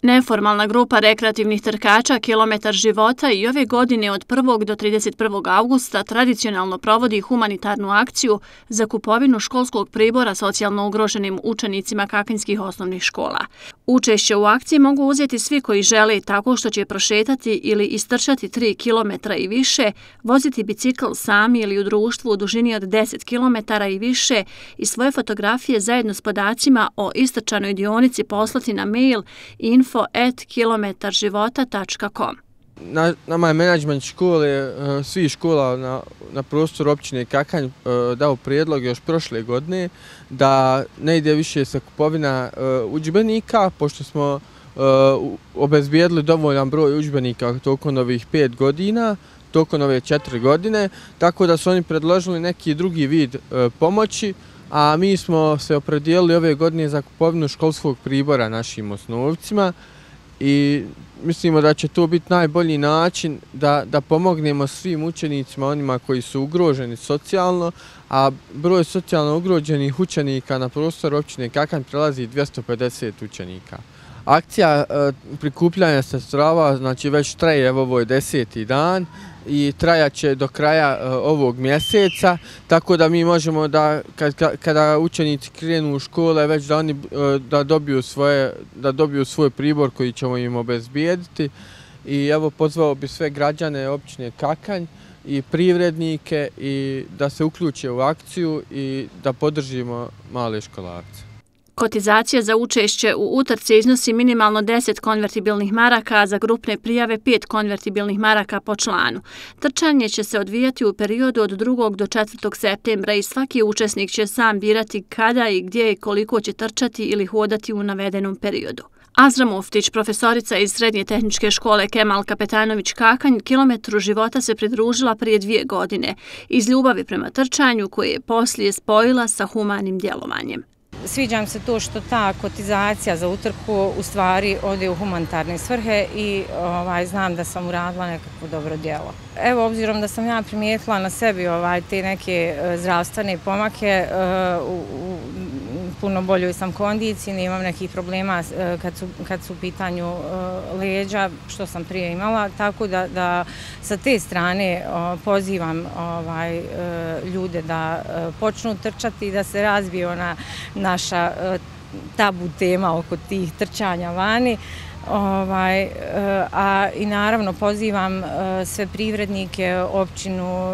Neformalna grupa rekreativnih trkača Kilometar života i ove godine od 1. do 31. augusta tradicionalno provodi humanitarnu akciju za kupovinu školskog pribora socijalno ugroženim učenicima kakanjskih osnovnih škola. Učešće u akciji mogu uzeti svi koji žele tako što će prošetati ili istrčati 3 km i više, voziti bicikl sami ili u društvu u dužini od 10 km i više i svoje fotografije zajedno s podacima o istrčanoj dionici poslati na mail info@kilometarživota.com. Nama je menadžment škole, svih škola na prostoru općine Kakanj dao prijedlog još prošle godine da ne ide više sa kupovina udžbenika, pošto smo obezbijedili dovoljan broj udžbenika tokom ovih 5 godina, tokom ove 4 godine, tako da su oni predložili neki drugi vid pomoći, a mi smo se opredijelili ove godine za kupovinu školskog pribora našim osnovcima i mislimo da će to biti najbolji način da pomognemo svim učenicima, onima koji su ugroženi socijalno, a broj socijalno ugroženih učenika na prostoru općine Kakanj prelazi 250 učenika. Akcija prikupljanja sredstava znači već traje, evo ovo je 10. dan i trajaće do kraja ovog mjeseca, tako da mi možemo da kada učenici krenu u škole već da oni da dobiju svoj pribor koji ćemo im obezbijediti. I evo pozvao bi sve građane općine Kakanj i privrednike i da se uključe u akciju i da podržimo male školarce. Kotizacija za učešće u utrci iznosi minimalno 10 konvertibilnih maraka, a za grupne prijave 5 konvertibilnih maraka po članu. Trčanje će se odvijati u periodu od 2. do 4. septembra i svaki učesnik će sam birati kada i gdje i koliko će trčati ili hodati u navedenom periodu. Azra Muftić, profesorica iz Srednje tehničke škole Kemal Kapetanović Kakanj, Kilometru života se pridružila prije 2 godine iz ljubavi prema trčanju koje je poslije spojila sa humanim djelovanjem. Sviđa mi se to što ta kotizacija za utrku u stvari ode u humanitarne svrhe i znam da sam uradila nekakvo dobro djelo. Evo, obzirom da sam ja primijetila na sebi te neke zdravstvene pomake, u puno boljoj sam kondiciji, nemam nekih problema kad su u pitanju leđa, što sam prije imala, tako da sa te strane pozivam ljude da počnu trčati i da se razbije ona naša tabu tema oko tih trčanja vani. I naravno pozivam sve privrednike, općinu,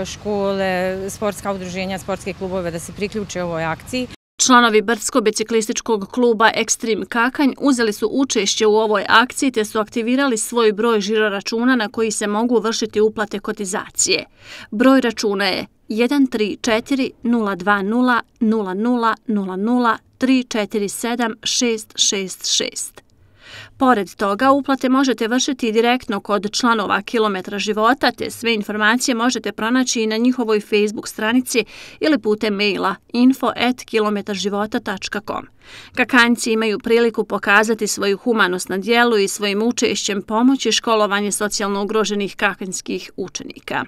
škole, sportska udruženja, sportske klubove da se priključe ovoj akciji. Članovi brdsko-biciklističkog kluba Ekstrem Kakanj uzeli su učešće u ovoj akciji te su aktivirali svoj broj žiroračuna na koji se mogu vršiti uplate kotizacije. Broj računa je 134 020 00 00 347 666. Pored toga, uplate možete vršiti direktno kod članova Kilometra života, te sve informacije možete pronaći i na njihovoj Facebook stranici ili putem maila info@kilometarživota.com. Kakanjci imaju priliku pokazati svoju humanost na djelu i svojim učešćem pomoći školovanje socijalno ugroženih kakanjskih učenika.